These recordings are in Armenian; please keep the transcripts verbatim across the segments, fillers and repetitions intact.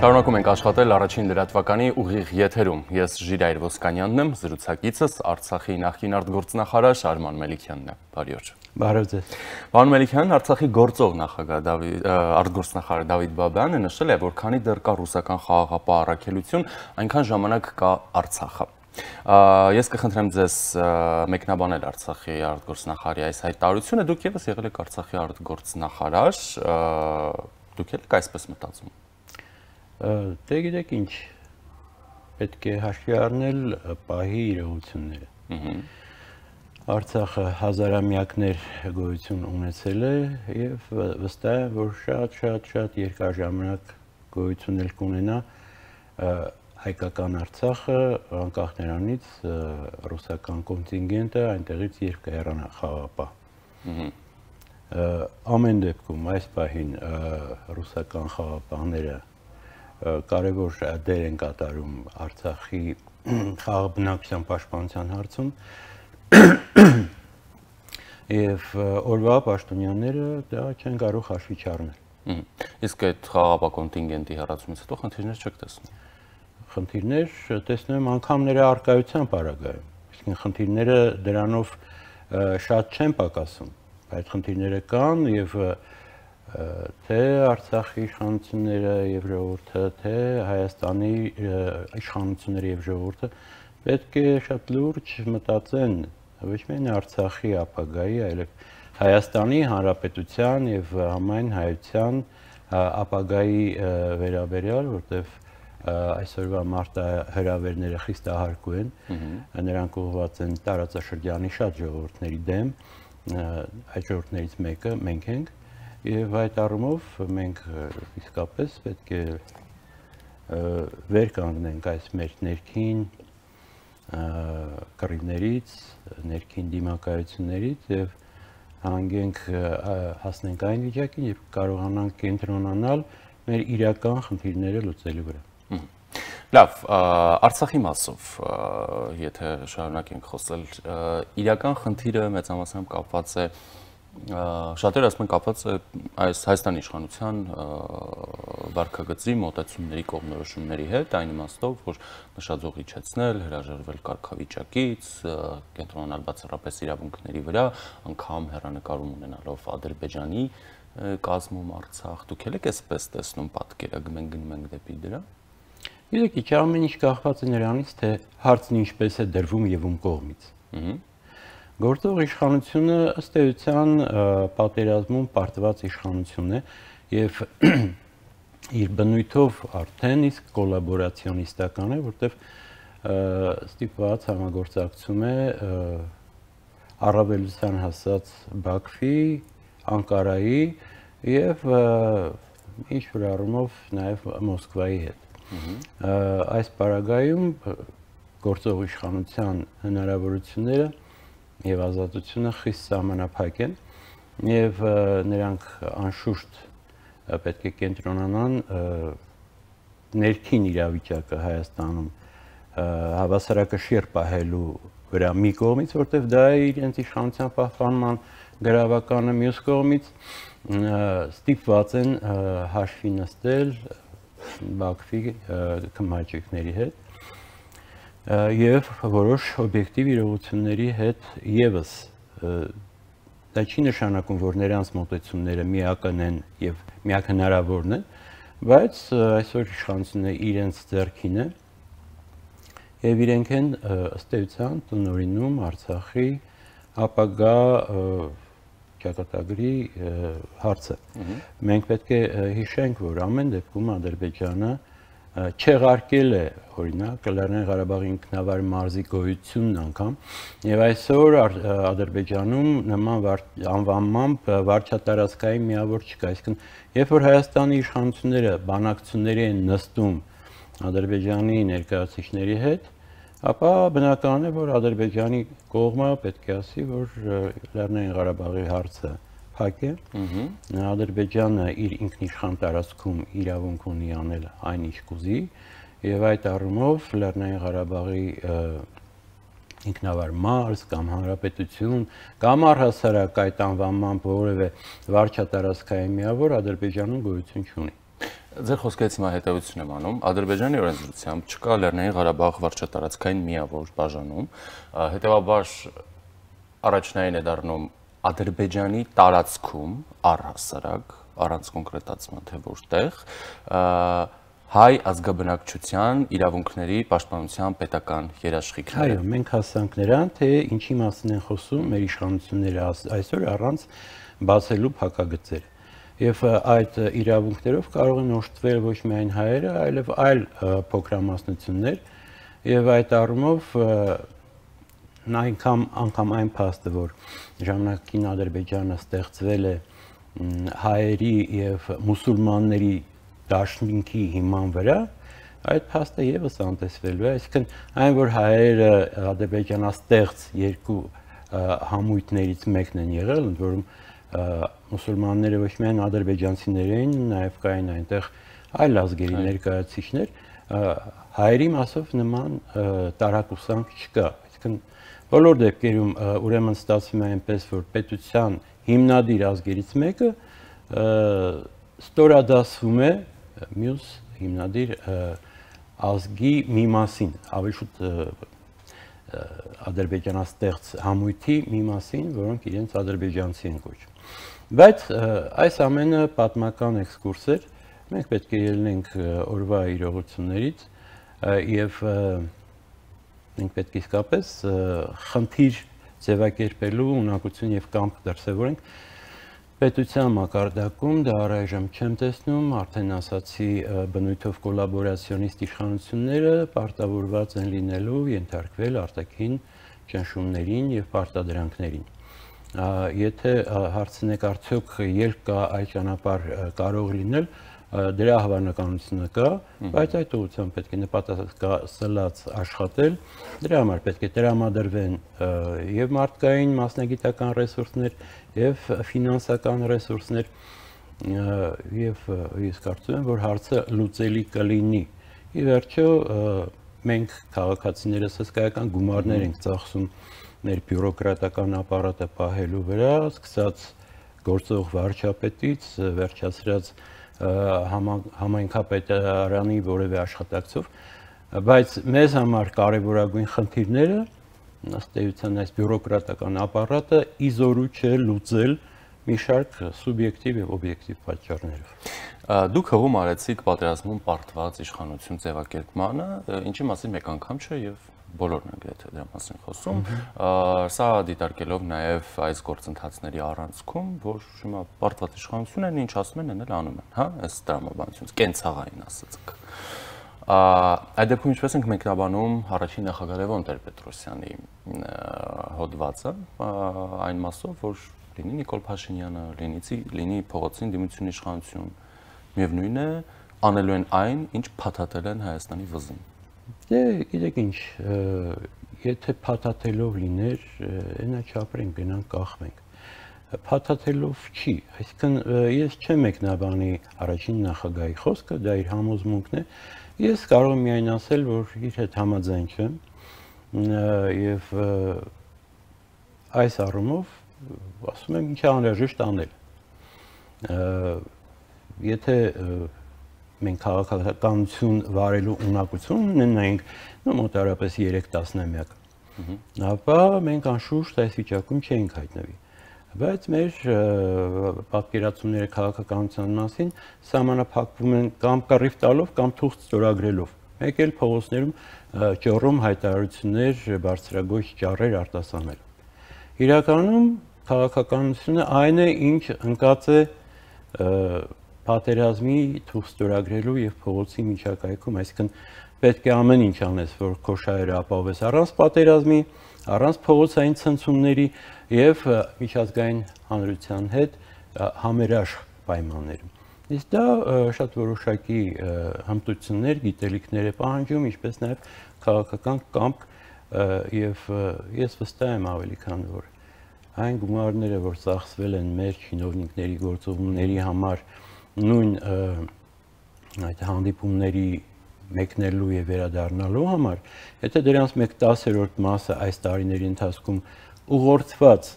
Շարունակում ենք աշխատել առաջին լրատվականի ուղիղ եթերում։ Ես Ժիրայր Ոսկանյանն եմ, զրուցակիցս Արցախի նախկին արտգործնախարար Արման Մելիքյանն է։ Բարի օր։ Բարև ձեզ։ Պարոն Մելիքյան, Արցախի գործող նախագահ արտգործնախարար Դավիթ Բաբայանը նշել է, որ քանի դեռ կա ռուսական խաղաղապահ առաքելություն, այնքան ժամանակ կա Արցախը։ Ես կխնդրեմ ձեզ մեկնաբանել Արցախի արտգործնախարարի այս հայտարարությունը, դուք ևս եղել եք Արցախի արտգործնախարար, դուք եք այսպես մտածում։ Դե գիտեք ինչ, պետք է հաշվի առնել պահի իրողությունները։ Արցախը հազարամյակներ գոյություն ունեցել է եւ վստահ եմ, որ շատ շատ շատ երկար ժամանակ գոյություն էլ կունենա հայկական Արցախը, անկախ նրանից ռուսական կոնտինգենտը այնտեղից երբ կհեռանա խաղաղապահ։ Ամեն դեպքում այս պահին ռուսական խաղաղապահները կարևոր դեր են կատարում Արցախի խաղաղ բնակչության պաշտպանության հարցում եւ օրվա պաշտոնյաները դա չեն կարող հաշվի չառնել։ Իսկ այդ խաղաղապահ կոնտինգենտի հեռացումից հետո խնդիրներ չեք տեսնում։ Խնդիրներ տեսնում եմ անգամ նրա առկայության պարագայում։ Իսկ խնդիրները դրանով շատ չեն պակասում, այդ խնդիրները կան եւ թե Արցախի իշխանությունները եւ ժողովուրդը, թե Հայաստանի իշխանությունները եւ ժողովուրդը պետք է շատ լուրջ մտածեն ոչ միայն Արցախի ապագայի, այլև Հայաստանի Հանրապետության եւ համայն հայության ապագայի վերաբերյալ, որտեղ այսօրվա մարտահրավերները խիստահարկու են, նրանք ուղղված են տարածաշրջանի շատ ժողովուրդների դեմ, այդ ժողովուրդներից մեկը մենք ենք եւ այդ առումով մենք իսկապես պետք է վեր կանգնենք այս մեր ներքին կռիվներից, ներքին դիմակայություններից եւ հանգենք հասնենք այն վիճակին, երբ կարողանանք կենտրոնանալ մեր իրական խնդիրները լուծելու վրա։ Լավ, Արցախի մասով, եթե շարունակենք խոսել, իրական խնդիրը մեծամասամբ կապված է շատերը ասում են կապված է այս Հայաստանի իշխանության վարքագծի մոտեցումների կողմնորոշումների հետ, այն իմաստով, որ նշաձող իջեցնել, հրաժարվել կարգավիճակից, կենտրոնանալ բացառապես իրավունքների վրա, անգամ հեռանկարում ունենալով Ադրբեջանի կազմում Արցախ, դուք եք այսպես տեսնում պատկերը, մենք գնում ենք դեպի դրա։ Գիտեք, ինչ ամեն ինչ կախված է նրանից, թե հարցն ինչպես է դրվում եւ ում կողմից։ Գործող իշխանությունը ըստ էության պատերազմում պարտված իշխանություն է եւ իր բնույթով արդեն իսկ կոլաբորացիոնիստական է, որտեղ ստիպված համագործակցում է առավելության հասած Բաքվի, Անկարայի եւ ինչ որ առումով նաեւ Մոսկվայի հետ։ Այս պարագայում գործող իշխանության հնարավորությունները եւ ազատությունը խիստ սահմանափակ են եւ նրանք անշուշտ պետք է կենտրոնանան ներքին իրավիճակը Հայաստանում հավասարակշիռ պահելու վրա մի կողմից, որտեղ դա է իրենց իշխանության պահպանման գրավականը, մյուս կողմից ստիպված են հաշվի նստել Բաքվի քմահաճույքների հետ եւ որոշ օբյեկտիվ իրողությունների հետ եւս դա չի նշանակում, որ նրանց մոտեցումները միական են եւ միակ հնարավորն են, բայց այսօր իշխանությունը իրենց ձեռքին է եւ իրենք են ըստ էության տնօրինում Արցախի ապագա ճակատագրի հարցը։ Մենք պետք է հիշենք, որ ամեն դեպքում Ադրբեջանը չեղարկել է օրինակ Լեռնային Ղարաբաղի ինքնավար մարզի գոյությունն անգամ եւ այսօր Ադրբեջանում նման անվանմամբ վարչատարածքային միավոր չկա, այսինքն երբ որ Հայաստանի իշխանությունները բանակցությունների են նստում Ադրբեջանի ներկայացուցիչների հետ, ապա բնական է, որ Ադրբեջանի կողմը պետք է ասի, որ Լեռնային Ղարաբաղի հարցը փակ է։ Ադրբեջանը իր ինքնիշխան տարածքում իրավունք ունի անել այն ինչ կուզի եւ այդ առումով Լեռնային Ղարաբաղի ինքնավար մարզ կամ հանրապետություն կամ առհասարակ այդ անվանմամբ որևէ վարչատարածքային միավոր Ադրբեջանում գոյություն չունի։ Ձեր խոսքերից հիմա հետևություն եմ անում, Ադրբեջանի օրենսդրությամբ չկա Լեռնային Ղարաբաղ վարչատարածքային միավոր բաժանում, հետևաբար առաջնային է դառնում Ադրբեջանի տարածքում առհասարակ, առանց կոնկրետացման թե որտեղ, հայ ազգաբնակչության իրավունքների պաշտպանության պետական երաշխիքները։ Այո, մենք հասանք նրան, թե ինչի մասին են խոսում մեր իշխանությունները այսօր առանց բացելու փակագծեր։ Եվ այդ իրավունքներով կարող են օժտվել ոչ միայն հայերը, այլև այլ փոքրամասնություններ, եւ այդ առումով այնքան անգամ այն փաստը, որ ժամանակին Ադրբեջանը ստեղծվել է հայերի եւ մուսուլմանների դաշնինքի հիման վրա, այդ փաստը եւս անտեսվելու է, այսինքն այն, որ հայերը ադրբեջանաստեղծ երկու համույթներից մեկն են եղել, ընդ որում մուսուլմանները ոչ միայն ադրբեջանցիներ էին, նաև կային այնտեղ այլ ազգերի ներկայացուցիչներ, հայերի մասով նման տարակուսանք չկա։ Այսինքն բոլոր դեպքերում ուրեմն ստացվում է այնպես, որ պետության հիմնադիր ազգերից մեկը ստորադասվում է մյուս հիմնադիր ազգի մի մասին, ավելի շուտ ադրբեջանաստեղծ համույթի մի մասին, որոնք իրենց ադրբեջանցի են կոչում։ Բայց այս ամենը պատմական էքսկուրս էր, մենք պետք է ելնենք օրվա իրողություններից եւ մենք պետք է իսկապես խնդիր ձևակերպելու ունակություն եւ կամք դրսեւորենք պետության մակարդակում, դա առայժմ չեմ տեսնում, արդեն ասացի բնույթով կոլաբորացիոնիստ իշխանությունները պարտավորված են լինելու ենթարկվել արտաքին ճնշումներին եւ պարտադրանքներին։ Եթե հարցնեք արդյոք երբ կա այդ ճանապարհ կարող լինել, դրա հավանականությունը կա, բայց այդ ուղղությամբ պետք է նպատակասլաց աշխատել, դրա համար պետք է տրամադրվեն եւ մարդկային մասնագիտական ռեսուրսներ եւ ֆինանսական ռեսուրսներ եւ ես կարծում եմ, որ հարցը լուծելի կլինի։ Ի վերջո մենք քաղաքացիներս հսկայական գումարներ ենք ծախսում մեր բյուրոկրատական ապարատը պահելու վրա, սկսած գործող վարչապետից, վերջացրած համայնքապետարանի որևէ աշխատակցով, բայց մեզ համար կարևորագույն խնդիրները ըստ էության այս բյուրոկրատական ապարատը իզորու չէ լուծել մի շարք սուբյեկտիվ եւ օբյեկտիվ պատճառներով։ Դուք հողում արեցիք պատերազմում պարտված իշխանություն ձևակերպմանը, ինչի մասին մեկ անգամ չէ եւ բոլորն են գրեթե դրա մասին խոսում, սա դիտարկելով նաև այս գործընթացների առանցքում, որ հիմա պարտված իշխանություն են, ինչ ասում են, էլ անում են, հա, այս տրամաբանությունից, կենցաղային ասածք։ Այդ դեպքում ինչպես ենք մեկնաբանում առաջին նախագահ Լևոն Տեր-Պետրոսյանի հոդվածը, այն մասով, որ լինի Նիկոլ Փաշինյանը, լինի փողոցին դիմություն իշխանություն, միևնույն է, անելու են այն, ինչ փաթաթել են Հայաստանի վզին։ Դե գիտեք ինչ, եթե փաթաթելով լիներ, այնա չապրենք, գնանք կախվենք։ Փաթաթելով չի, այսինքն ես չեմ մեկնաբանի առաջին նախագահի խոսքը, դա իր համոզմունքն է։ Ես կարող եմ միայն ասել, որ իր հետ համաձայն չեմ եւ այս առումով ասում եմ, ինչ է անհրաժեշտ անել։ Եթե մենք քաղաքականություն վարելու ունակություն ունենայինք մոտարապես երեք տասնամյակ, ապա մենք անշուշտ այս վիճակում չէինք հայտնվի։ Բայց մեր պատկերացումները քաղաքականության մասին սահմանափակվում են կամ կռիվ տալով, կամ թուղթ ստորագրելով։ Մեկ էլ փողոցներում ճոռում հայտարարություններ, բարձրագույն ճառեր արտասանելով։ Իրականում քաղաքականությունը այն է, ինչ ընկած է պատերազմի թուղթ ստորագրելու եւ փողոցի միջակայքում, այսինքն պետք է ամեն ինչ անես, որ քո շահերը ապահովես առանց պատերազմի, առանց փողոցային ցնցումների եւ միջազգային հանրության հետ համերաշխ պայմաններում։ Իսկ դա շատ որոշակի հմտություններ, գիտելիքներ է պահանջում, ինչպես նաեւ քաղաքական կամք եւ ես վստահ եմ ավելի քան որ այն գումարները, որ ծախսվել են մեր չինովնիկների գործողումների համար նույն այդ հանդիպումների մեկնելու եւ վերադառնալու համար, եթե դրանց մեկ տասերորդ մասը այս տարիների ընթացքում ուղղորդված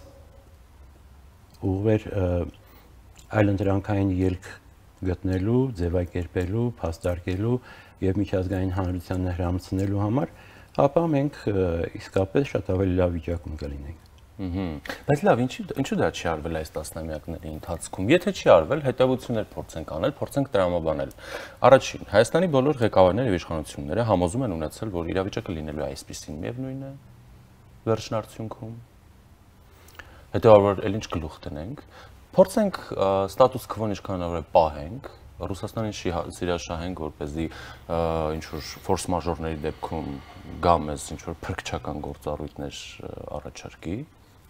ուղղեր այլընտրանքային ելք գտնելու, ձևակերպելու, փաստարկելու եւ միջազգային հանրությանը հրամցնելու համար, ապա մենք իսկապես շատ ավելի լավ վիճակում կլինենք։ Բայց լավ, ինչու դա չի արվել այս տասնամյակների ընթացքում։ Եթե չի արվել, հետևություններ փորձենք անել, փորձենք տրամաբանել։ Առաջին, Հայաստանի բոլոր ղեկավարները եւ իշխանությունները համոզում են ունեցել, որ իրավիճակը լինելու է այսպիսին, միևնույն է, վերջնարդյունքում։ Հետեւաբար էլ ինչ գլուխ տնենք, փորձենք ստատուս քվոն ինչքան հնարավոր է պահենք, Ռուսաստանին սիրաշահենք, որպեսզի ինչ-որ ֆորս մաժորների դեպքում գա մեզ ինչ-որ փրկչական գործառույթներ առաջարկի,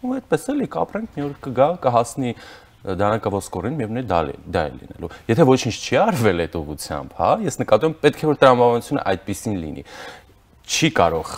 ու այդպես էլի կապրենք, մի օր կգա, կհասնի դանակավորսկորին, միևնույն դա է լինելու։ Եթե ոչինչ չի արվել այդ ուղղությամբ, հա, ես նկատում եմ, պետք է որ տրամաբանությունը այդպեսին լինի։ Չի կարող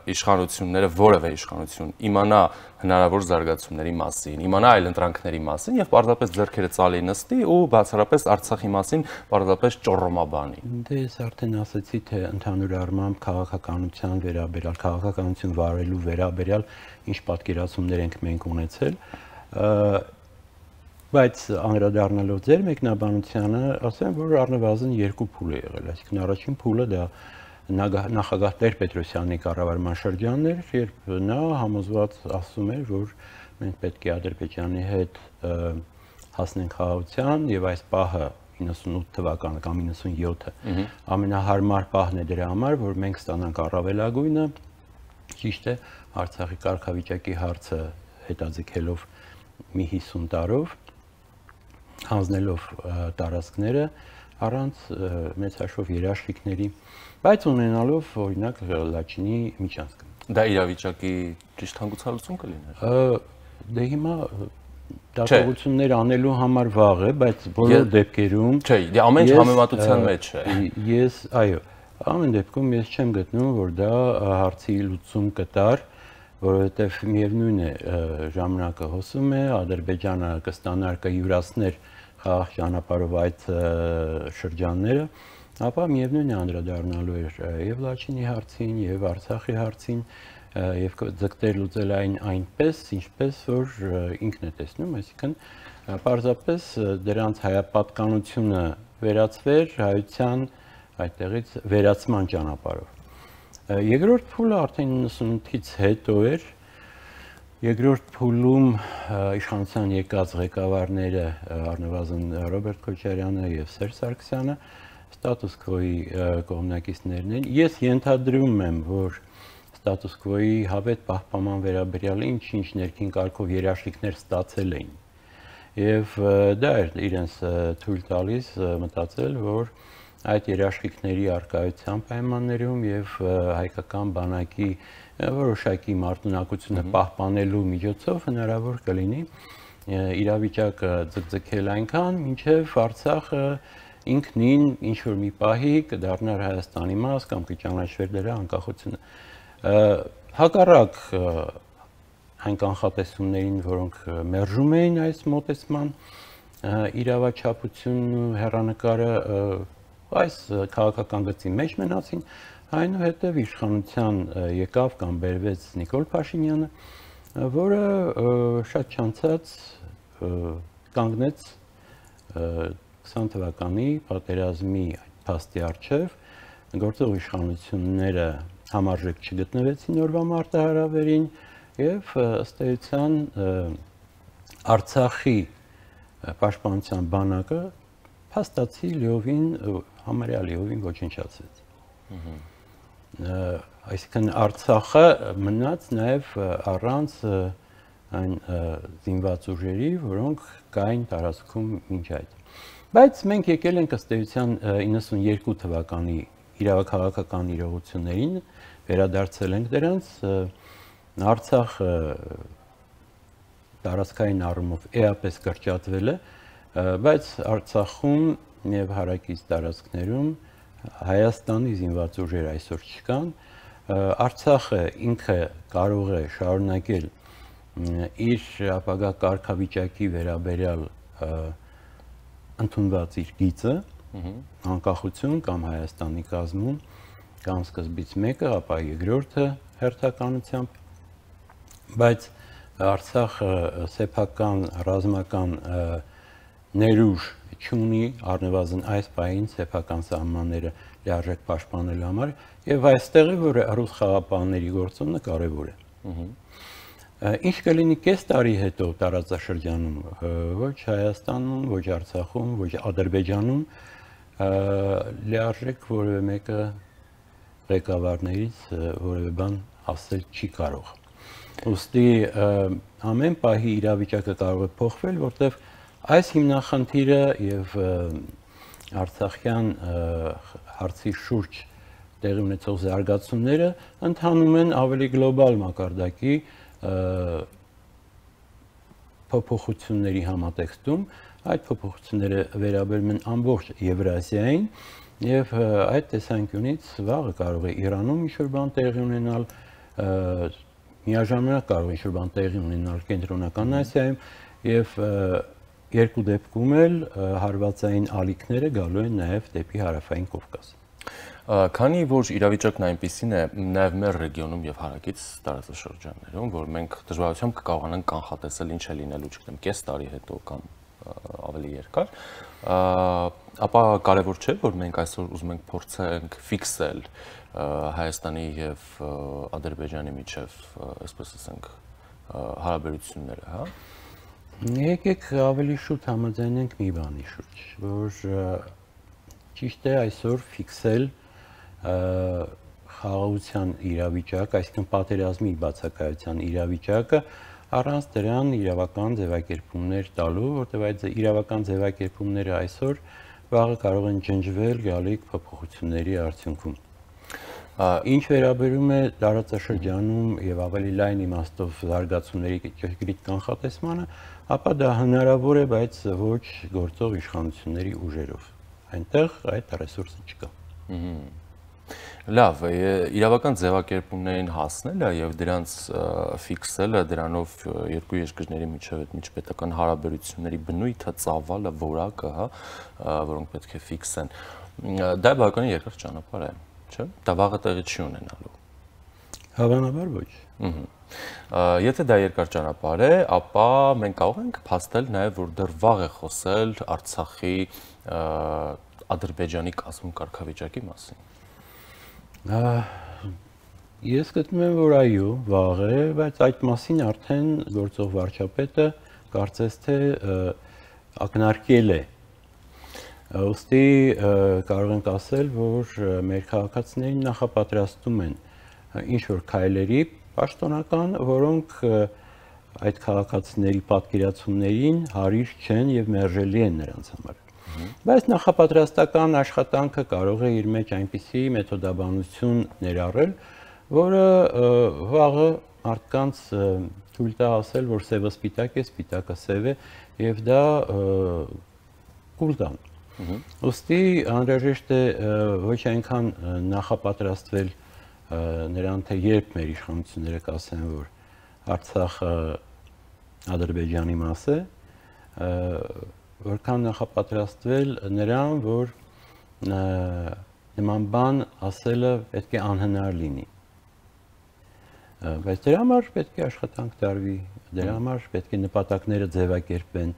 իշխանությունները, որևէ իշխանություն իմանա հնարավոր զարգացումների մասին, իմանա այլընտրանքների մասին եւ պարզապես ձեռքերը ծալի նստի ու բացառապես Արցախի մասին պարզապես ճոռոմաբանի։ Դե ես արդեն ասացի, թե ընդհանուր առմամբ քաղաքականության վերաբերյալ, քաղաքականություն վարելու վերաբերյալ ինչ պատկերացումներ ենք մենք ունեցել, բայց անդրադառնալով ձեր մեկնաբանությանը, ասեմ, որ առնվազն երկու փուլ է եղել, այսինքն առաջին փուլը դա նախագահ Տեր-Պետրոսյանի կառավարման շրջանն էր, երբ նա համոզված ասում էր, որ մենք պետք է Ադրբեջանի հետ հասնենք խաղաղության եւ այս պահը իննսունութ թվականը կամ իննսունյոթը ամենահարմար պահն է դրա համար, որ մենք ստանանք առավելագույնը, ճիշտ է, Արցախի կարգավիճակի հարցը հետաձգելով մի հիսուն տարով, հանձնելով տարածքները առանց մեծ հաշվով երաշխիքների, բայց ունենալով օրինակ Լաչինի միջանցքը։ Դա իրավիճակի ճիշտ հանգուցալուծում կլիներ։ Դե հիմա դատողություններ անելու համար վաղ է, բայց բոլոր դեպքերում չէ, դե ամեն ինչ համեմատության մեջ է։ Ես, այո, ամեն դեպքում ես չեմ գտնում, որ դա հարցի լուծում կտար, որովհետև միևնույն է ժամանակը հոսում է, Ադրբեջանը կստանար կյուրացներ խաղաղ ճանապարհով այդ շրջանները, ապա միևնույն է անդրադառնալու էր եւ Լաչինի հարցին, եւ Արցախի հարցին, եւ ձգտեր լուծել այն այնպես, ինչպես որ ինքն է տեսնում, այսինքն պարզապես դրանց հայապատկանությունը վերածվեր հայության այդտեղից վերացման ճանապարհով։ Երկրորդ փուլը արդեն իննսունութից հետո էր, երկրորդ փուլում իշխանության եկած ղեկավարները առնվազն Ռոբերտ Քոչարյանը եւ Սերժ Սարգսյանը ստատուս քվոյի կողմնակիցներն են։ Ես ենթադրում եմ, որ ստատուս քվոյի հավետ պահպանման վերաբերյալ ինչ-ինչ ներքին կարգով երաշխիքներ ստացել էին։ Եվ դա էր իրենց թույլ տալիս մտածել, որ այդ երաշխիքների արկայության պայմաններում եւ հայկական բանակի որոշակի մարտունակությունը պահպանելու միջոցով հնարավոր կլինի իրավիճակը ձգձգել այնքան, մինչեւ Արցախը ինքնին ինչ որ մի պահի կդառնար Հայաստանի մաս կամ կճանաչվեր դրա անկախությունը։ Հակառակ այն կանխատեսումներին, որոնք մերժում էին այս մոտեցման իրավաչափությունն ու հեռանկարը այս քաղաքական գծի մեջ մնացին, այնուհետև իշխանության եկավ կամ բերվեց Նիկոլ Փաշինյանը, որը շատ չանցած կանգնեց քսան թվականի պատերազմի փաստի առջև, գործող իշխանությունները համարժեք չգտնվեցին օրվա մարտահրավերին եւ ըստ էության Արցախի պաշտպանության բանակը փաստացի լիովին համարյա լիովին ոչնչացվեց։ Այսինքն Արցախը մնաց նաեւ առանց այն զինված ուժերի, որոնք կային տարածքում մինչ այդ։ Բայց մենք եկել ենք ըստ էության իննսունյոթ թվականի իրավաքաղաքական իրողություններին, վերադարձել ենք դրանց, Արցախը տարածքային առումով էապես կրճատվել է, բայց Արցախում եւ հարակից տարածքներում Հայաստանի զինված ուժեր այսօր չկան, Արցախը ինքը կարող է շարունակել իր ապագա կարգավիճակի վերաբերյալ ընդունված իր գիծը, անկախություն կամ Հայաստանի կազմում, կամ սկզբից մեկը, ապա երկրորդը հերթականությամբ, բայց Արցախը սեփական ռազմական ներուժ չունի առնվազն այս բային սեփական սահմանները լիարժեք պաշտպանելու համար եւ այստեղ է որ ռուս խաղապահների գործոնը կարեւոր է։ Ինչ կլինի կես տարի հետո տարածաշրջանում, ոչ Հայաստանում, ոչ Արցախում, ոչ Ադրբեջանում լիարժեք որևէ մեկը ղեկավարներից որևէ բան ասել չի կարող։ Ուստի ամեն պահի իրավիճակը կարող է փոխվել, որտեղ այս հիմնախնդիրը եւ Արցախյան հարցի շուրջ տեղի ունեցող զարգացումները ընթանում են ավելի գլոբալ մակարդակի փոփոխությունների համատեքստում, այդ փոփոխությունները վերաբերում են ամբողջ Եվրասիային եւ այդ տեսանկյունից վաղը կարող է Իրանում ինչ-որ բան տեղի ունենալ, միաժամանակ կարող է ինչ-որ բան տեղի ունենալ Կենտրոնական Ասիայում եւ երկու դեպքում էլ հարվածային ալիքները գալու են նաեւ դեպի Հարավային Կովկաս։ Քանի որ իրավիճակն այնպիսին է նաև մեր ռեգիոնում եւ հարակից տարածաշրջաններում, որ մենք դժվարությամբ կկարողանանք կանխատեսել ինչ է լինելու, չգիտեմ, կես տարի հետո կամ ավելի երկար, ապա կարևոր չէ, որ մենք այսօր ուզում ենք փորձենք ֆիքսել Հայաստանի եւ Ադրբեջանի միջև, այսպես ասենք, հարաբերությունները, հա։ Եկեք ավելի շուտ համաձայնենք մի բանի շուրջ, որ ճիշտ է այսօր ֆիքսել խաղաղության իրավիճակ, այսինքն պատերազմի բացակայության իրավիճակը առանց դրան իրավական ձևակերպումներ տալու, որտեղ այդ իրավական ձևակերպումները այսօր վաղը կարող են ջնջվել գալիք փոփոխությունների արդյունքում։ Ինչ վերաբերում է տարածաշրջանում եւ ավելի լայն իմաստով զարգացումների ճշգրիտ կանխատեսմանը, ապա դա հնարավոր է, բայց ոչ գործող իշխանությունների ուժերով։ Այնտեղ այդ ռեսուրսը չկա։ Լավ, իրավական ձևակերպումներին հասնելը եւ դրանց ֆիքսելը, դրանով երկու երկրների միջև այդ միջպետական հարաբերությունների բնույթը, ծավալը, որակը, հա, որոնք պետք է ֆիքսեն, դա բավականին երկար ճանապարհ է, չէ՞։ Դա վաղը տեղի չի ունենալու։ Հավանաբար ոչ։ Եթե դա երկար ճանապարհ է, ապա մենք կարող ենք փաստել նաեւ, որ դեռ վաղ է խոսել Արցախի Ադրբեջանի կազմում կարգավիճակի մասին։ Ես գտնում եմ, որ այո, վաղ է, բայց այդ մասին արդեն գործող վարչապետը կարծես թե ակնարկել է։ Ոստի կարող ենք ասել, որ մեր քաղաքացիներին նախապատրաստում են ինչ-որ քայլերի պաշտոնական, որոնք այդ քաղաքացիների պատկերացումներին հարիր չեն եւ մերժելի են նրանց համար։ Բայց նախապատրաստական աշխատանքը կարող է իր մեջ այնպիսի մեթոդաբանություն ներառել, որը վաղը մարդկանց թույլ տա ասել, որ սևը սպիտակ է, սպիտակը սև է եւ դա կուլ տան։ Ոստի անհրաժեշտ է ոչ այնքան նախապատրաստվել նրան, թե երբ մեր իշխանությունները կասեն, որ Արցախը Ադրբեջանի մաս է, որքան նախապատրաստվել նրան, որ նման բան ասելը պետք է անհնար լինի։ Բայց դրա համար պետք է աշխատանք տարվի, դրա համար պետք է նպատակները ձևակերպեն,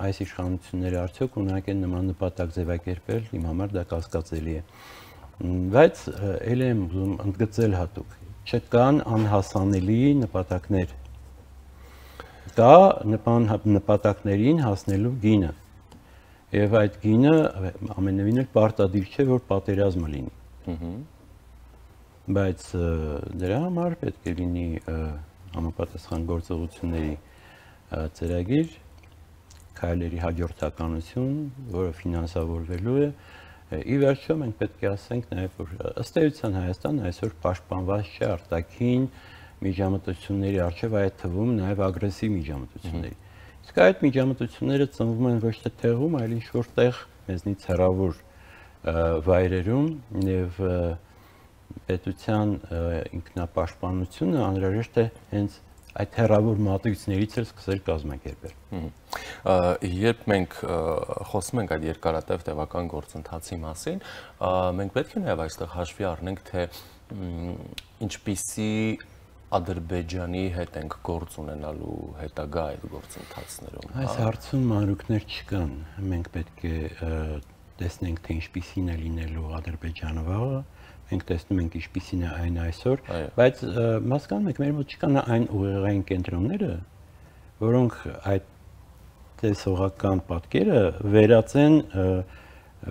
այս իշխանությունները արդյոք ունակ են նման նպատակ ձևակերպել, իմ համար դա կասկածելի է։ Բայց էլ եմ ուզում ընդգծել հատուկ, չկան անհասանելի նպատակներ։ Կա նպատակներին հասնելու գինը։ Եվ այդ գինը ամենևին էլ պարտադիր չէ, որ պատերազմը լինի։ Բայց դրա համար պետք է լինի համապատասխան գործողությունների ծրագիր, քայլերի հաջորդականություն, որը ֆինանսավորվելու է։ Ի վերջո մենք պետք է ասենք նաև, որ ըստ էության Հայաստանը այսօր պաշտպանված չէ արտաքին միջամտությունների առջև, այդ թվում նաև ագրեսիվ միջամտությունների։ Իսկ այդ միջամտությունները ծնվում են ոչ թե տեղում, այլ ինչ-որ տեղ մեզնից հեռավոր վայրերում եւ պետության ինքնապաշտպանությունը անհրաժեշտ է հենց այդ հեռավոր մատույցներից էլ սկսել կազմակերպել։ Երբ մենք խոսում ենք այդ երկարատև տևական գործընթացի մասին, մենք պետք է նաև այստեղ հաշվի առնենք, թե ինչպիսի Ադրբեջանի հետ ենք գործ ունենալու հետագա այդ գործընթացներում։ Այս հարցում մանրուքներ չկան։ Մենք պետք է տեսնենք, թե ինչպիսին է լինելու Ադրբեջանը վաղը, մենք տեսնում ենք ինչպիսին է այն այսօր, բայց հասկանում եք, մեր մոտ չկան այն ուղեղային կենտրոնները, որոնք այդ տեսողական պատկերը վերածեն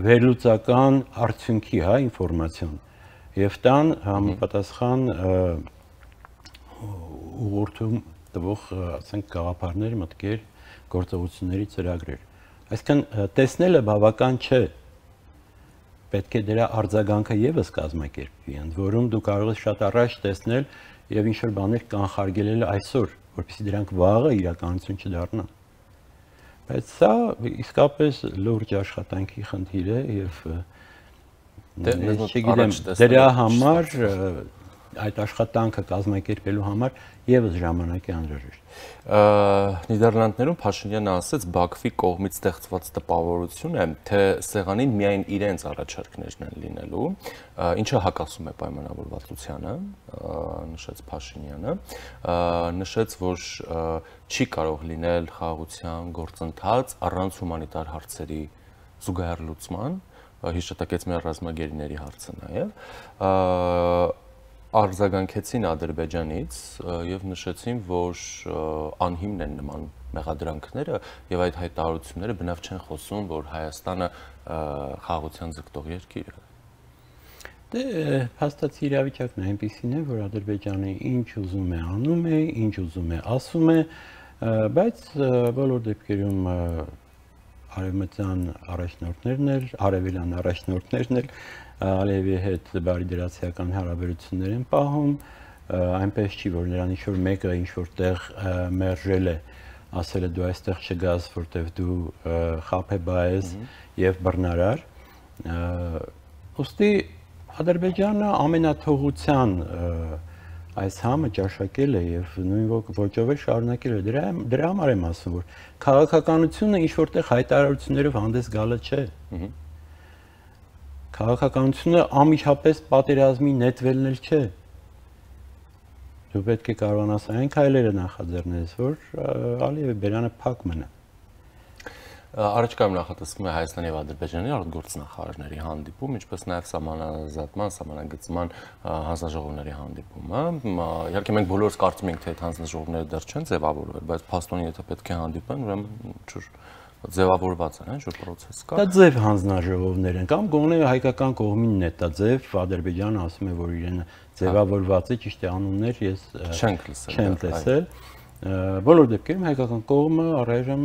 վերլուծական արդյունքի, հա, ինֆորմացիոն եւ տան համապատասխան ուղղորդում տվող, ասենք, գաղափարներ, մտքեր, գործողությունների ծրագրեր։ Այսինքն տեսնելը բավական չէ։ Պետք է դրա արձագանքը եւս կազմակերպվի, ընդ որում դու կարող ես շատ առաջ տեսնել եւ ինչ-որ բաներ կանխարգելել այսօր, որպեսզի դրանք վաղը իրականություն չդառնան։ Բայց սա իսկապես լուրջ աշխատանքի խնդիր է եւ չգիտեմ, դրա համար այդ աշխատանքը կազմակերպելու համար եւս ժամանակ է անհրաժեշտ։ Նիդերլանդներում Փաշինյանը ասաց, Բաքվի կողմից ստեղծված տպավորություն է, թե սեղանին միայն իրենց առաջարկներն են լինելու, ինչը հակասում է պայմանավորվածությանը, նշեց Փաշինյանը, նշեց, որ չի կարող լինել խաղաղության գործընթաց առանց հումանիտար հարցերի զուգահեռ լուծման, հիշատակեց մեր ռազմագերիների հարցը նաև, արձագանքեցին Ադրբեջանից եւ նշեցին, որ անհիմն են նման մեղադրանքները եւ այդ հայտարարությունները բնավ չեն խոսում, որ Հայաստանը խաղաղության ձգտող երկիր է։ Դե հաստատ իրավիճակն է այնպեսին է, որ Ադրբեջանը ինչ ուզում է անում է, ինչ ուզում է ասում է, բայց բոլոր դեպքերում արևմտյան առաջնորդներն էլ, արևելյան առաջնորդներն էլ Ալիևի հետ բարիդրացիական հարաբերություններ են պահում, այնպես չի, որ նրան ինչ-որ մեկը ինչ-որ տեղ մերժել է, ասել է դու այստեղ չգաս, որտեվ դու խաբեբա ես եւ բռնարար։ Ոստի Ադրբեջանը ամենաթողության այս համը ճաշակել է եւ նույն ոճով է շարունակել է։ Դրա դրա համար եմ ասում, որ քաղաքականությունը ինչ-որտեղ հայտարարություններով հանդես գալը չէ։ Քաղաքականությունը ամիջապես պատերազմի նետվելն էլ չէ։ Դու պետք է կարողանաս այն քայլերը նախաձեռնես, որ Ալիևի բերանը փակ մնա։ Առաջկայում նախատեսվում է Հայաստանի եւ Ադրբեջանի արտգործնախարարների հանդիպում, ինչպես նաեւ սահմանազատման, սահմանագծման հանձնաժողովների հանդիպումը։ Իհարկե մենք բոլորս կարծում ենք, թե այդ հանձնաժողովները դեռ չեն ձևավորվել, բայց փաստորեն եթե պետք է հանդիպեն, ուրեմն ինչ-որ ձևավորված են, ինչ-որ process կա։ Դա ձև հանձնաժողովներ են, կամ գոնե հայկական կողմինն է դա ձև, Ադրբեջանը ասում է, որ իրեն ձևավորված է, ճիշտ է, անուններ ես չեմ տեսել։ Բոլոր դեպքերում հայկական կողմը առայժմ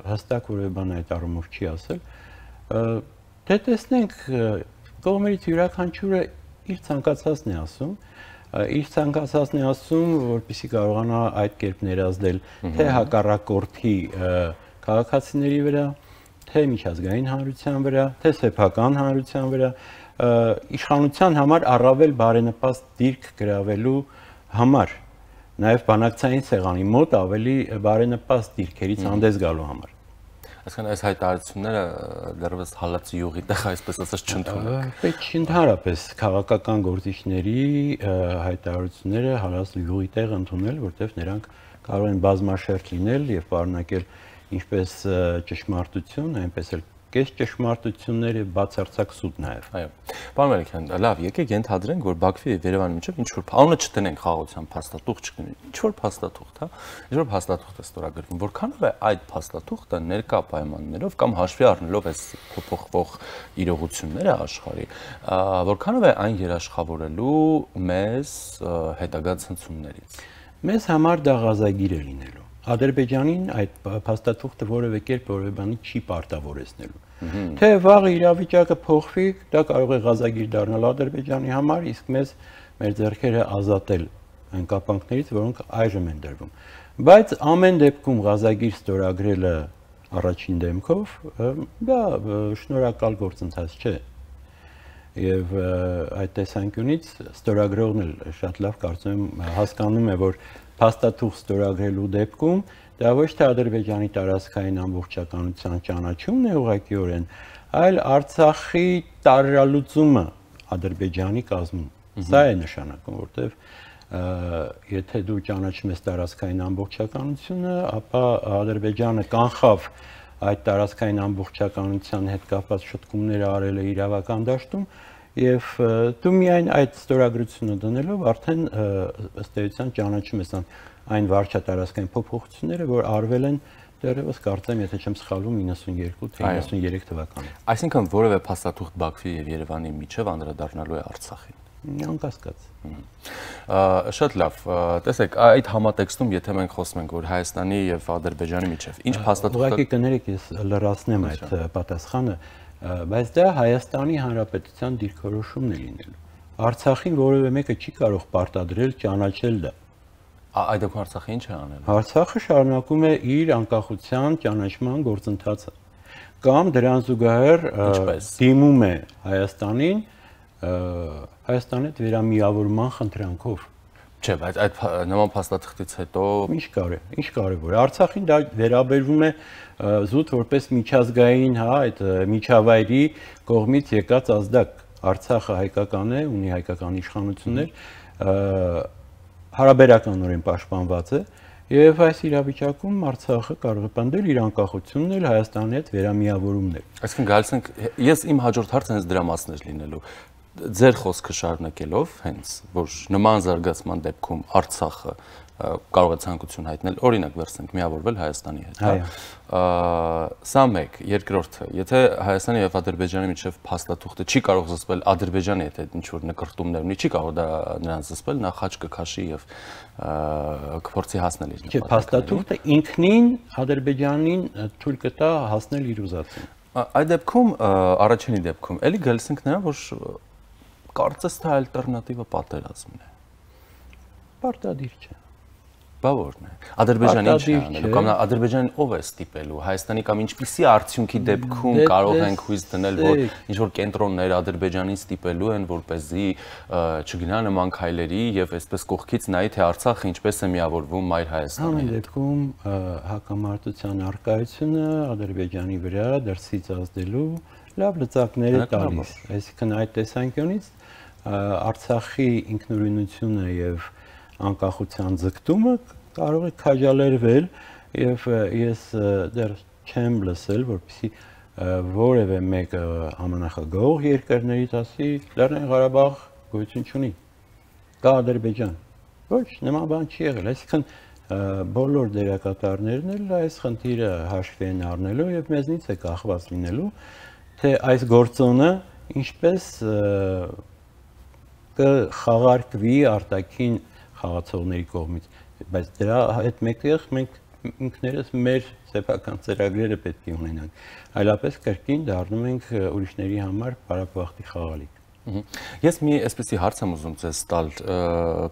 հստակ որևէ բան այդ առումով չի ասել։ Դե տեսնենք, կողմերից յուրաքանչյուրը իր ցանկացածն է ասում, իր ցանկացածն է ասում, որպեսզի կարողանա այդ կերպ ներազդել թե հակառակորդի քաղաքացիների վրա, թե միջազգային հանրության վրա, թե սեփական հանրության վրա, իշխանության համար առավել բարենպաստ դիրք գրավելու համար, նաև բանակցային սեղանի մոտ ավելի բարենպաստ դիրքերից հանդես գալու համար։ Այսինքն այս հայտարարությունները դեռևս հալած յուղի տեղ, այսպես ասած, չընդունեք։ Պետք չի ընդհանրապես քաղաքական գործիչների հայտարարությունները հալած յուղի տեղ ընդունել, որտեղ նրանք կարող են բազմաշերտ լինել եւ պարունակել ինչպես ճշմարտություն, այնպես էլ կես ճշմարտություններ եւ բացարձակ սուտ նաեւ։ Այո։ Պարոն Մելիքյան, լավ, եկեք ենթադրենք, որ Բաքվի եւ Երևանի միջեւ ինչ որ անունը չտնենք խաղաղության փաստաթուղթ չկնի։ Ինչ որ փաստաթուղթ, հա։ Ինչ որ փաստաթուղթ է ստորագրվում, որքանով է այդ փաստաթուղթը ներկա պայմաններով կամ հաշվի առնելով այս փոփոխվող իրողությունները աշխարհի, որքանով է այն երաշխավորելու մեզ հետագա ցնցումներից։ Մեզ համար դա գազագիր է լինելու։ Ադրբեջանին այդ փաստաթուղթը որևէ կերպ որևէ բանի չի պարտավորեցնելու։ Թե վաղը իրավիճակը փոխվի, դա կարող է գազագիր դառնալ Ադրբեջանի համար, իսկ մեզ մեր ձեռքերը ազատել այն կապանքներից, որոնք այժմ են դրվում։ Բայց ամեն դեպքում գազագիր ստորագրելը առաջին դեմքով դա շնորհակալ գործընթաց չէ։ Եվ այդ տեսանկյունից ստորագրողն էլ շատ լավ կարծում եմ հասկանում է, որ փաստաթուղթ ստորագրելու դեպքում դա ոչ թե Ադրբեջանի տարածքային ամբողջականության ճանաչումն է ուղղակիորեն, այլ Արցախի տարրալուծումը Ադրբեջանի կազմում։ Սա է նշանակում, որտեղ եթե դու ճանաչում ես տարածքային ամբողջականությունը, ապա Ադրբեջանը կանխավ այդ տարածքային ամբողջականության հետ կապված շտկումները արել է իրավական դաշտում եւ դու միայն այդ ստորագրությունը դնելով արդեն ըստ էության ճանաչում ես այն վարչատարածքային փոփոխությունները, որ արվել են դեռևս կարծեմ, եթե չեմ սխալվում իննսունյերկու թե իննսունյերեք թվականին։ Այսինքն որևէ փաստաթուղթ Բաքվի եւ Երևանի միջև անդրադառնալու է Արցախին։ Անկասկած։ Շատ լավ, տեսեք, այդ համատեքստում, եթե մենք խոսում ենք, որ Հայաստանի եւ Ադրբեջանի միջև ինչ փաստաթուղթ Ուղղակի կներեք, ես լրացնեմ այդ պատասխանը, բայց դա Հայաստանի Հանրապետության դիրքորոշումն է լինելու։ Արցախին որևէ մեկը չի կարող պարտադրել ճանաչել դա։ Այդ դեպքում Արցախը ինչ է անելու։ Արցախը շարունակում է իր անկախության ճանաչման գործընթացը կամ դրան զուգահեռ դիմում է Հայաստանին Հայաստանի հետ վերամիավորման խնդրանքով։ Չէ, բայց այդ նման փաստաթղթից հետո ինչ կարե, ինչ կարևոր է։ Արցախին դա վերաբերվում է զուտ որպես միջազգային, հա, այդ միջավայրի կողմից եկած ազդակ։ Արցախը հայկական է, ունի հայկական իշխանություններ, հարաբերականորեն պաշտպանված է, եւ այս իրավիճակում Արցախը կարող է պնդել իր անկախությունն էլ Հայաստանի հետ վերամիավորումն է։ Այսինքն գալիս ենք, ես իմ հաջորդ հարցը հենց դրա մասն էր լինելու։ Ձեր խոսքը շարունակելով, հենց որ նման զարգացման դեպքում Արցախը կարող է ցանկություն հայտնել, օրինակ վերցնենք միավորվել Հայաստանի հետ, հա։ Սա մեկ, երկրորդը, եթե Հայաստանի եւ Ադրբեջանի միջև փաստաթուղթը չի կարող զսպել Ադրբեջանի հետ ինչ որ նկարտումներ ունի, չի կարող դա նրան զսպել, նա խաչ կքաշի եւ կփորձի հասնել իր նպատակին։ Չէ, փաստաթուղթը ինքնին Ադրբեջանին թույլ կտա հասնել իր ուզածին։ Այդ դեպքում, առաջինի դեպքում, էլի գալիս ենք նրան, որ կարծես թե ալտերնատիվը պատերազմն է։ Պարտադիր չէ։ Բա որն է։ Ադրբեջանը ինչ է անելու, կամ Ադրբեջանին ով է ստիպելու, Հայաստանի կամ ինչպիսի արդյունքի դեպքում կարող ենք հույս դնել, որ ինչ որ կենտրոններ Ադրբեջանին ստիպելու են, որպեսզի չգնա նման քայլերի եւ այսպես կողքից նայի թե Արցախը ինչպես է միավորվում Մայր Հայաստանի հետ։ Այդ դեպքում հակամարտության արկայությունը Ադրբեջանի վրա դրսից ազդելու լավ լծակներ է տալիս։ Այսինքն այդ տեսանկյունից Արցախի ինքնուրույնությունը եւ անկախության ձգտումը կարող է քաջալերվել եւ ես դեռ չեմ լսել, որպեսզի որևէ մեկ համանախագահող երկրներից ասի Լեռնային Ղարաբաղ գոյություն չունի։ Կա Ադրբեջան։ Ոչ, նման բան չի եղել։ Այսինքն բոլոր դերակատարներն էլ այս խնդիրը հաշվի են առնելու եւ մեզնից է կախված լինելու, թե այս գործոնը ինչպես կխաղարկվի արտաքին խաղացողների կողմից, բայց դրա հետ մեկտեղ մենք ինքներս մեր սեփական ծրագրերը պետք է ունենանք, այլապես կրկին դառնում ենք ուրիշների համար պարապվախտի խաղալիք։ Ես մի այսպեսի հարց եմ ուզում ձեզ տալ,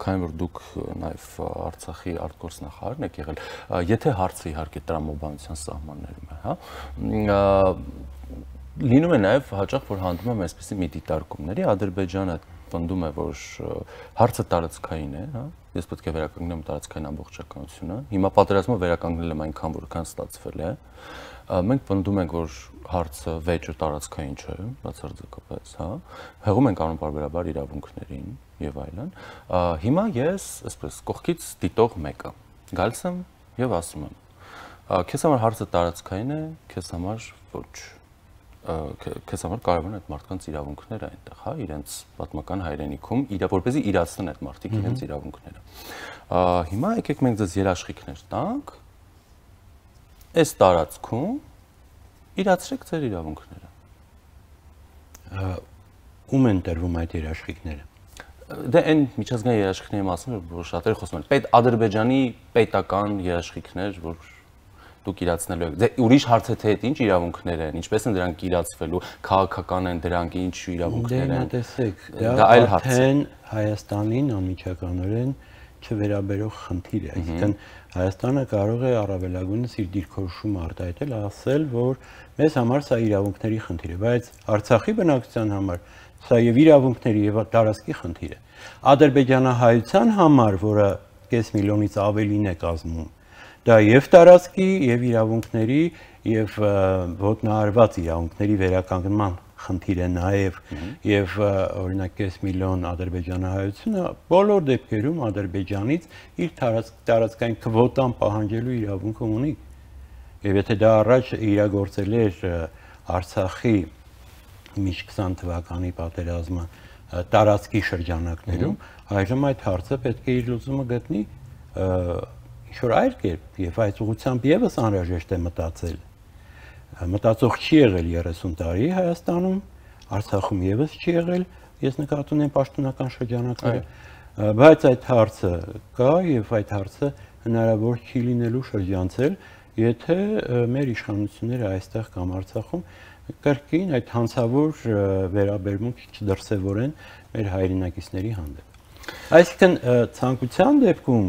քանի որ դուք նաև Արցախի արտգործնախարարն եք եղել, եթե հարցը իհարկե տրամաբանության սահմաններում է, հա, լինում է նաև հաճախ, որ հանդիպում եմ այսպեսի մի դիտարկումների, Ադրբեջանը պնդում է, որ հարցը տարածքային է, հա, ես պետք է վերականգնեմ տարածքային ամբողջականությունը, հիմա պատերազմը վերականգնել եմ այնքան, որքան ստացվել է, մենք պնդում ենք, որ հարցը վեճը տարածքային չէ, բացարձակապես, հա, հեղում ենք անպարբերաբար իրավունքներին եւ այլն։ Հիմա ես, այսպես, կողքից դիտող մեկը գալիս եմ եւ ասում եմ, քեզ համար հարցը տարածքային է, քեզ համար ոչ։ Քեզ համար կարևոր են այդ մարդկանց իրավունքները այնտեղ, հա, իրենց պատմական հայրենիքում, որպեսզի իրացնեն այդ մարդիկ իրենց իրավունքները։ Հիմա եկեք մենք ձեզ երաշխիքներ տանք, այս տարածքում իրացրեք ձեր իրավունքները։ Ում են տրվում այդ երաշխիքները։ Դե այն միջազգային երաշխիքների մասին, որ շատերը խոսում են, պետ Ադրբեջանի պետական երաշխիքներ, որ դուք իրացնելու եք։ Դե ուրիշ հարց է թե ինչ իրավունքներ են, ինչպես են դրանք իրացվելու, քաղաքական են դրանք, ինչ իրավունքներ են։ Դե տեսեք, դա արդեն Հայաստանին անմիջականորեն չվերաբերող խնդիր է, այսինքն Հայաստանը կարող է առավելագույնս իր դիրքորոշումը արտահայտել, ասել, որ մեզ համար սա իրավունքների խնդիր է, բայց Արցախի բնակչության համար սա եւ իրավունքների եւ տարածքի խնդիր է։ Ադրբեջանահայության համար, որը կես միլիոնից ավելին է կազմում, դա եւ տարածքի եւ իրավունքների եւ ոտնահարված իրավունքների վերականգնման խնդիր է նաև եւ օրինակ կես միլիոն ադրբեջանահայությունը բոլոր դեպքերում Ադրբեջանից իր տարածքային քվոտան պահանջելու իրավունք ունի։ Եվ եթե դա առաջ իրագործել էր Արցախի մինչ քսան թվականի պատերազմը տարածքի շրջանակներում, այժմ այդ հարցը պետք է իր լուծումը գտնի ինչ-որ այլ կերպ եւ այդ ուղղությամբ եւս անհրաժեշտ է մտածել։ Մտածող չի եղել երեսուն տարի Հայաստանում, Արցախում եւս չի եղել, ես նկատի ունեմ պաշտոնական շրջանակները, բայց այդ հարցը կա եւ այդ հարցը հնարավոր չի լինելու շրջանցել, եթե մեր իշխանությունները այստեղ կամ Արցախում կրկին այդ հանցավոր վերաբերմունք չդրսևորեն մեր հայրենակիցների հանդեպ։ Այսինքն ցանկության դեպքում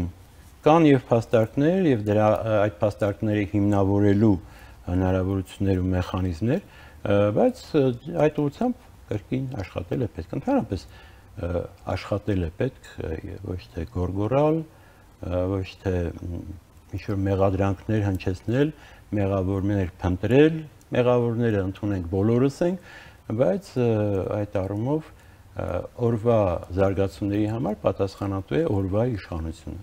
կան եւ փաստարկներ եւ դրա այդ փաստարկները հիմնավորելու հնարավորություններ ու մեխանիզմներ, բայց այդ ուղղությամբ կրկին աշխատել է պետք, ընդհանրապես աշխատել է պետք, ոչ թե գորգորալ, ոչ թե ինչ-որ մեղադրանքներ հնչեցնել, մեղավորներ փնտրել, մեղավորները ընդունենք բոլորս ենք, բայց այդ առումով օրվա զարգացումների համար պատասխանատու է օրվա իշխանությունը։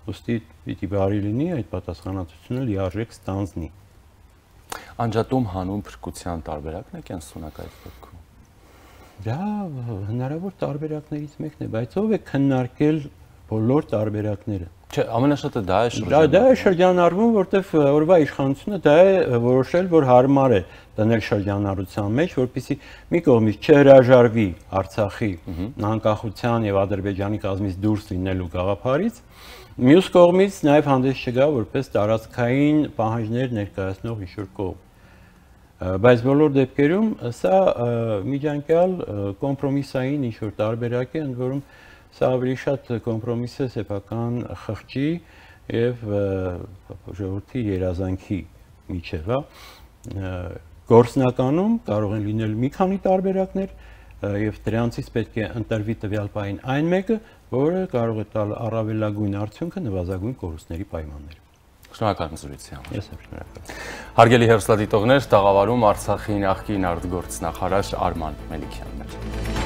Ոստի պիտի բարի լինի այդ պատասխանատվությունը լիարժեք ստանձնի։ Անջատում հանուն փրկության տարբերակն է կենսունակ այդ դեպքում։ Դա հնարավոր տարբերակներից մեկն է, բայց ով է քննարկել բոլոր տարբերակները։ Չէ, ամենաշատը դա է շրջանառվում։ Դա է շրջանառվում, որտեվ օրվա իշխանությունը դա է որոշել, որ հարմար է դնել շրջանառության մեջ, որպեսզի մի կողմից չհրաժարվի Արցախի անկախության եւ Ադրբեջանի կազմից դուրս լինելու գաղափարից, մյուս կողմից նաեւ հանդես չգա որպես տարածքային պահանջներ ներկայացնող ինչ-որ կողմ։ Բայց բոլոր դեպքերում սա միջանկյալ կոմպրոմիսային ինչ-որ տարբերակ է, ընդ որում սա ավելի շատ կոմպրոմիս է սեփական խղճի եւ ժողովրդի երազանքի միջեւ, հա։ Գործնականում կարող են լինել մի քանի տարբերակներ եւ դրանցից պետք է ընտրվի տվյալ պահին այն մեկը, որը կարող է տալ առավելագույն արդյունքը նվազագույն կորուստների պայմաններում։ Շնորհակալ եմ զրույցի համար։ Ես եմ շնորհակալ։ Հարգելի հեռուստադիտողներ, տաղավարում Արցախի նախկին արտգործնախարար Արման Մելիքյանն էր։